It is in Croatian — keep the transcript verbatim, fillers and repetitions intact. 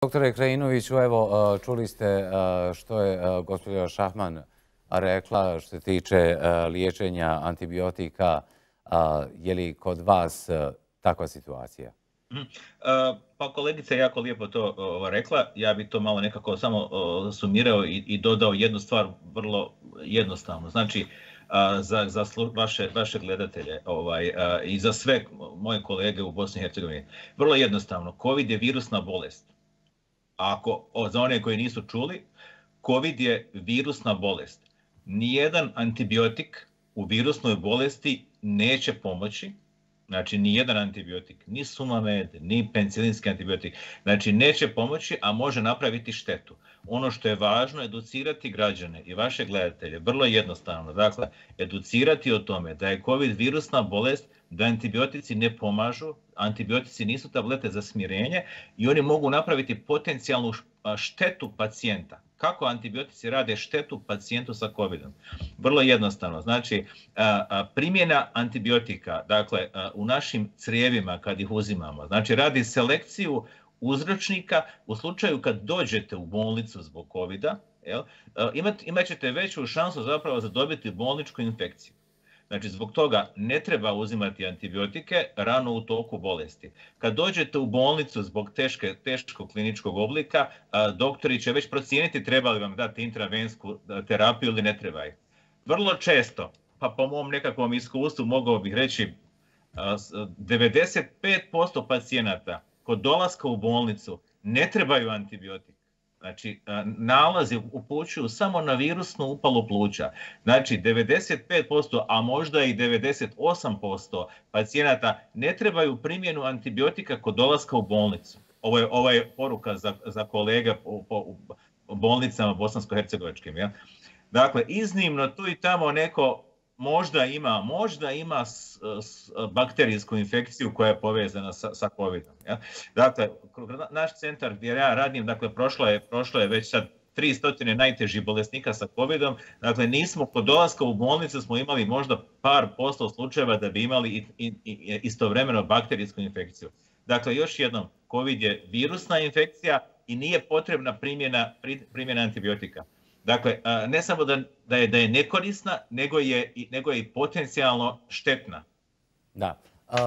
Doktore Krajinoviću, evo, čuli ste što je gospođa Šahman rekla što se tiče liječenja antibiotika. Je li kod vas takva situacija? Pa kolegica je jako lijepo to rekla. Ja bih to malo nekako samo sumirao i dodao jednu stvar vrlo jednostavno. Znači, za, za vaše, vaše gledatelje ovaj, i za sve moje kolege u Bosni i Hercegovini. Vrlo jednostavno, COVID je virusna bolest. Ako, za one koji nisu čuli, COVID je virusna bolest. Nijedan antibiotik u virusnoj bolesti neće pomoći, znači nijedan antibiotik, ni Sumamed, ni penicillinski antibiotik, znači neće pomoći, a može napraviti štetu. Ono što je važno je educirati građane i vaše gledatelje, vrlo jednostavno, dakle, educirati o tome da je COVID virusna bolest, da antibiotici ne pomažu, antibiotici nisu tablete za smirenje i oni mogu napraviti potencijalnu štetu pacijenta. Kako antibiotici rade štetu pacijentu sa covidom? Vrlo jednostavno. Znači, primjena antibiotika, dakle, u našim crijevima kad ih uzimamo, znači radi selekciju uzročnika u slučaju kad dođete u bolnicu zbog covida, jel, imat, imat ćete veću šansu zapravo za dobiti bolničku infekciju. Znači, zbog toga ne treba uzimati antibiotike rano u toku bolesti. Kad dođete u bolnicu zbog teške, teškog kliničkog oblika, doktori će već procijeniti treba li vam dati intravensku terapiju ili ne treba ih. Vrlo često, pa po mom nekakvom iskustvu mogao bih reći, devedeset pet posto pacijenata kod dolaska u bolnicu ne trebaju antibiotik. Znači, nalazi upućuju samo na virusnu upalu pluća. Znači, devedeset pet posto, a možda i devedeset osam posto pacijenata ne trebaju primjenu antibiotika kod dolaska u bolnicu. Ovo je, ovo je poruka za, za kolege u, u, u bolnicama bosansko-hercegovačkim. Ja? Dakle, iznimno tu i tamo neko možda ima, možda ima s, s, bakterijsku infekciju koja je povezana sa, sa covidom. Ja? Dakle, naš centar gdje ja radim, dakle, prošlo je, prošlo je već sad tristo najtežih bolesnika sa covidom. Dakle, nismo kod dolaska u bolnicu smo imali možda par posto slučajeva da bi imali i, i, i istovremeno bakterijsku infekciju. Dakle, još jednom, COVID je virusna infekcija i nije potrebna primjena, primjena antibiotika. Dakle, ne samo da, da, je, da je nekorisna, nego je, nego je i potencijalno štetna. Da. Uh...